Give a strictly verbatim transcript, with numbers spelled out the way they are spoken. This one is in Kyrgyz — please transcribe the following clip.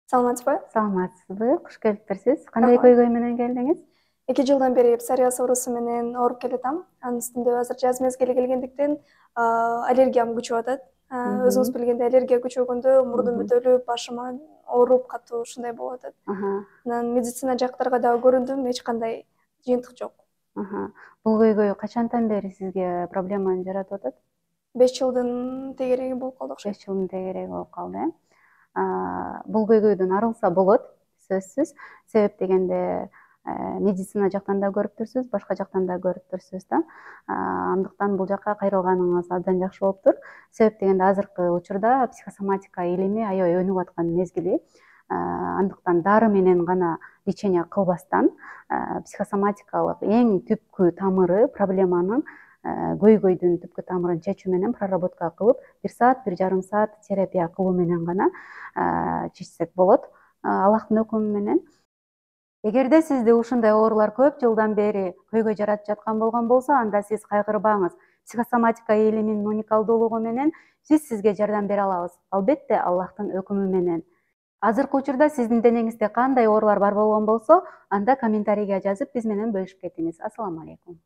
Саламатсызбы? Саламатсызбы, куш келипсиз. Кандай көйгөй менен келдиңиз? эки жылдан бери псориаз оорусу менен ооруп келатам. Анын үстүндө азыр жаз мезгили келгендиктен аллергиям күчөп атат. Өзүңүз билгендей, аллергия күчөгөндө мурдум бүтөлүп, башым ооруп, катуу ушундай болуп атат. Анан медицина жактарга дагы көрүндүм, эч кандай жыйынтык жок. Бул көйгөй качантан бери сизге проблеманы жаратып атат? беш жылдын тегереги болуп калды окшойт. беш жылдын тегереги болуп калды, э? Бул көйгөйдөн арылса болот, сөзсүз. Себеп дегенде медицина жактан да көрүптүрсүз, башка жактан да көрүптүрсүз да. Андыктан бул жакка кайрылганыңыз абдан жакшы болуптур. Себеп дегенде азыркы учурда психосоматика илими аябай өнүгүп аткан мезгили. Андыктан дары менен гана лечение кылбастан психосоматикалык эң түпкү тамыры проблеманын, көйгөйдүн түпкү тамырын чечүү менен проработка кылып, бир саат, бир жарым саат терапия кылуу менен гана чечсек болот, Аллахтын өкүмү менен. Эгерде сизде ушундай оорулар көп жылдан бери көйгөй жаратып жаткан болгон болсо, анда сиз кайгырбаңыз. Психосоматика илиминин уникалдуулугу менен биз сизге жардам бере алабыз. Албетте, Аллахтын өкүмү менен. Азыркы учурда сиздин денеңизде кандай оорулар бар болгон болсо, анда комментарийге жазып, биз менен бөлүшүп кетиңиз. Ассаламу алейкум.